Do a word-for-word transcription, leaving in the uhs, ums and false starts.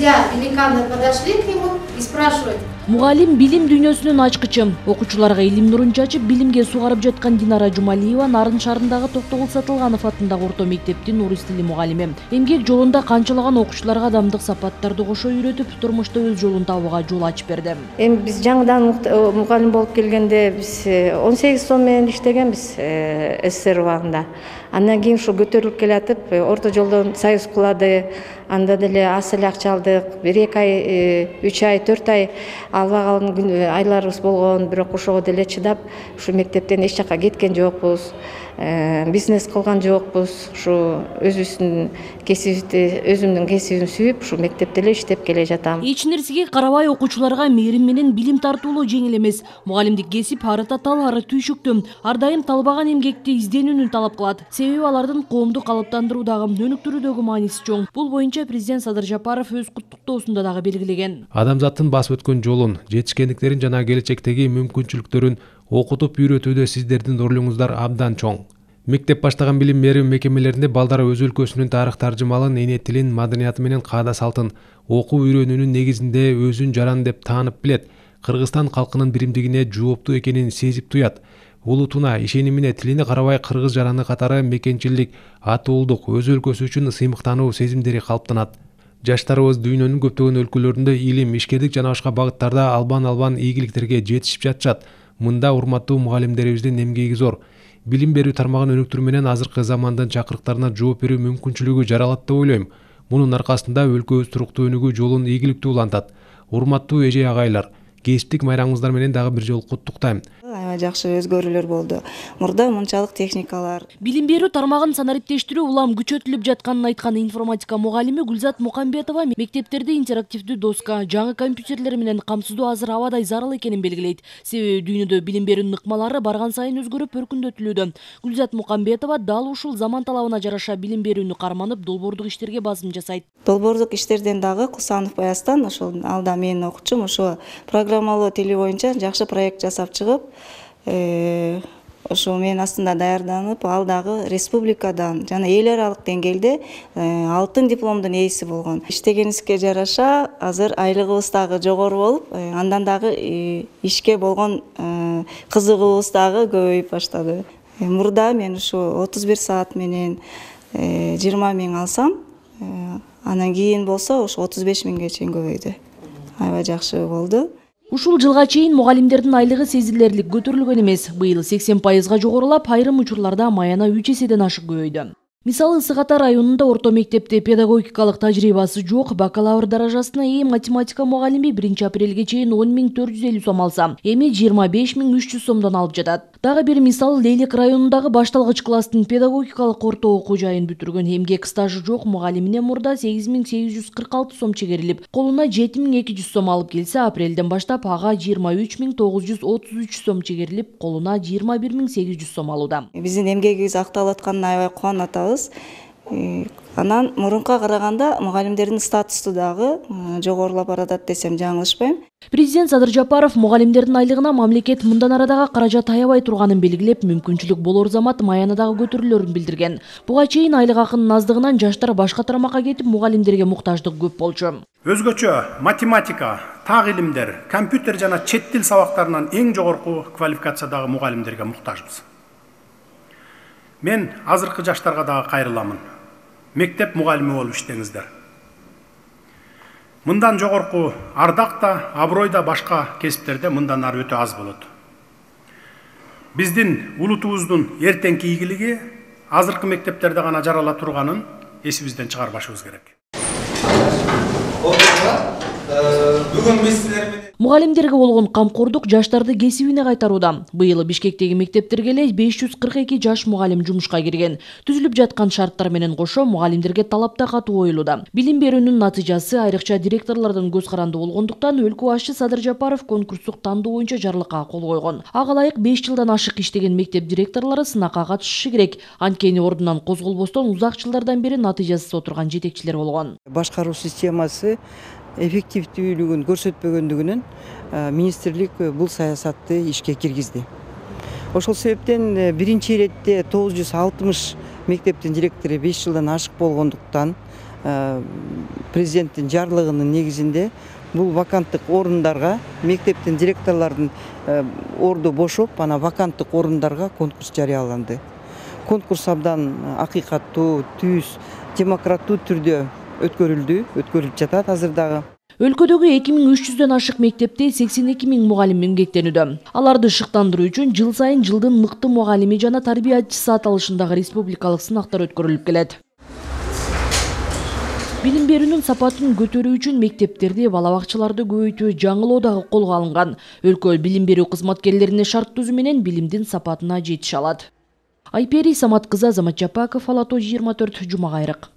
Друзья великаны подошли к нему и спрашивают: Мугалим билим дүйнөсүнүн ачкычы. Окуучуларга илим нурун чачып, билимге сугарып жаткан Динара Жумалиева Нарын шаарындагы Токтогул Сатылганов атындагы орто мектептин орус тили мугалими. Эмгек жолунда канчалаган окуучуларга адамдык сапаттарды кошо үйрөтүп, турмушта өз жолун табууга жол ачып берди. Эми биз жаңыдан мугалим болуп келгенде биз он сегиз сом менен иштегенбиз СССР убагында. Андан кийин ушу көтөрүлүп келатып, орто жолдон союз кулады, анда деле аз эле акча алдык. бир эки ай, үч ай, төрт ай албаган айларыбыз болгон, бирок ошого деле чыдап, ушу мектептен эч жакка кеткен жокпуз. Бизнес кылган жокпуз. Ушу өзүбүздүн кесибибизди, өзүмдүн кесибимди сүйүп, ушу мектепте эле иштеп келе жатам. Эч нерсеге карабай окуучуларга мээрим менен билим тартуулоо жеңил эмес. Мугалимдик кесип ары татаал, ары түйшүктүү. Ар дайым талбаган эмгекти, изденүүнү талап кылат. Себеби алардын коомду калыптандыруудагы, өнүктүрүүдөгү мааниси чоң. Бул боюнча президент Садыр Жапаров өз куттуктоосунда дагы белгилеген. Адамзаттын басып өткөн жолун, жетишкендиктерин жана келечектеги мүмкүнчүлүктөрүн окутуп үйрөтүүдө сиздердин ролуңуздар абдан чоң. Мектеп баштаган билим берүү мекемелеринде балдар өз өлкөсүнүн тарых таржымалын, эне тилин, маданияты менен каада салтын окуу үйрөнүүнүн негизинде өзүн жаран деп таанып билет. Кыргызстан калкынын биримдигине жооптуу экенин сезип туят. Улутуна, ишенимине, тилине карабай кыргыз жараны катары мекенчилдик, атуулдук, өз өлкөсү үчүн сыймыктануу сезимдери калыптанат. Жаштарыбыз дүйнөнүн көптөгөн өлкөлөрүндө илим, ишкерлик жана башка багыттарда албан-албан ийгиликтерге жетишип жатышат. Мында урматтуу мугалимдерибиздин эмгеги зор. Билим берүү тармагын өнүктүрүү менен азыркы замандын чакырыктарына жооп берүү мүмкүнчүлүгү жаралат деп ойлойм. Мунун аркасында өлкөбүз туруктуу өнүгүү жолун ийгиликтүү улантат. Урматтуу эже агайлар, кесиптик майраңыңыздар менен дагы бир жолу куттуктайм. Аябай жакшы өзгөрүүлөр болду. Мурда мынчалык техникалар. Билим берүү тармагын санариптештирүү улам күчөтүлүп жатканын айткан информатика мугалими Гүлзат Мукамбетова мектептерде интерактивдүү доска, жаңы компьютерлер менен камсыздоо азыр абадай зарыл экенин белгилейт. Себеби дүйнөдө билим берүүнүн ыкмалары барган сайын өзгөрүп, өркүндөтүлүүдө. Гүлзат Мукамбетова дал ушул заман талабына жараша билим берүүнү карманып, долбоордук иштерге басым жасайт. Долбоордук иштерден дагы Кусанов Баястан, ошол алда менин окуучум, ошо программалоо тили боюнча жакшы проект жасап чыгып, ошо мен астында даярданып, ал дагы республикадан жана эл аралык деңгээлде алтын дипломдун ээси болгон. Иштегенибизге жараша азыр айлыгыбыз дагы жогору болуп, андан дагы ишке болгон кызыгуубуз дагы көбөйүп баштады. Мурда мен ушу отуз бир саат менен жыйырма миң алсам, анан кийин болсо ошо отуз беш миңге чейин көбөйдү. Аябай жакшы болду. Ушул жылга чейин мугалимдердин айлыгы сезилерлик көтөрүлгөн эмес. Быйыл сексен пайызга жогорулап, айрым учурларда маяна үч эседен ашык көбөйдү. Мисалы, Ысык Ата районунда орто мектепте педагогикалык тажрыйбасы жок бакалавр даражасына ээ математика мугалими биринчи апрелге чейин он миң төрт жүз элүү сом алса, эми жыйырма беш миң үч жүз сомдон алып жатат. Дагы бир мисал, Лейлек районундагы башталгыч класстын педагогикалык орто окуу жайын бүтүргөн эмгек стажы жок мугалимине мурда сегиз миң сегиз жүз кырк алты сом чегерилип, колуна жети миң эки жүз сом алып келсе, апрелден баштап ага жыйырма үч миң тогуз жүз отуз үч сом чегерилип, колуна жыйырма бир миң сегиз жүз сом алууда. Биздин эмгегибиз акталып атканына аябай кубанып атабыз. Анан мурунка караганда мугалимдердин статусу дагы жогорулап баратат десем жаңылышпайм. Президент Садыр Жапаров мугалимдердин айлыгына мамлекет мындан ары дагы каражат аябай турганын белгилеп, мүмкүнчүлүк болор замат маяна дагы көтөрүлөрүн билдирген. Буга чейин айлык акынын аздыгынан жаштар башка тармакка кетип, мугалимдерге муктаждык көп болчу. Өзгөчө математика, так илимдер, компьютер жана чет тил сабактарынан эң жогорку квалификациядагы мугалимдерге муктажбыз. Мен азыркы жаштарга дагы кайрыламын. Мектеп мугалими болуп иштеңиздер. Мындан жогорку ардак да, аброй да башка кесиптерде мындан ары өтө аз болот. Биздин улутубуздун эртеңки ийгилиги азыркы мектептерде гана жарала турганын эсибизден чыгарбашыбыз керек. Бүгүн биз силер менен мугалимдерге болгон камкордук жаштарды кесибине кайтарууда. Быйыл Бишкектеги мектептерге эле беш жүз кырк эки жаш мугалим жумушка кирген. Түзүлүп жаткан шарттар менен кошо мугалимдерге талап да катуу коюлууда. Билим берүүнүн натыйжасы айрыкча директорлордун көз каранды болгондуктан өлкө башчы Садыр Жапаров конкурстук тандоо боюнча жарлыкка кол койгон. Ага ылайык беш жылдан ашык иштеген мектеп директорлору сынакка катышышы керек. Анткени ордунан козголбостон узак жылдардан бери натыйжасыз отурган жетекчилер болгон. Башкаруу системасы эффективдүүлүгүн көрсөтпөгөндүгүнөн министрлик бул саясатты ишке киргизди. Ошол себептен биринчи иретте тогуз жүз алтымыш мектептин директору беш жылдан ашык болгондуктан президенттин жарлыгынын негизинде бул ваканттык орундарга мектептин директорлордун орду бошоп, анан ваканттык орундарга конкурс жарыяланды. Конкурс абдан акыйкаттуу, түз, демократтуу түрдө өткөрүлдү, өткөрүлүп жатат азыр дагы. Өлкөдөгү эки миң үч жүздөн ашык мектепте сексен эки миң мугалим эмгектенүүдө. Аларды шыктандыруу үчүн жыл сайын жылдын мыкты мугалими жана тарбиячысы аталышындагы республикалык сынактар өткөрүлүп келет. Билим берүүнүн сапатын көтөрүү үчүн мектептерди, бала бакчаларды көбөйтүү, жаңылоо дагы колго алынган. Өлкө билим берүү кызматкерлерине шарт түзүү менен билимдин сапатына жетише алат. Айпери Самат кызы, Азамат Жапаков, Ала тоо жыйырма төрт, Жума кайрык.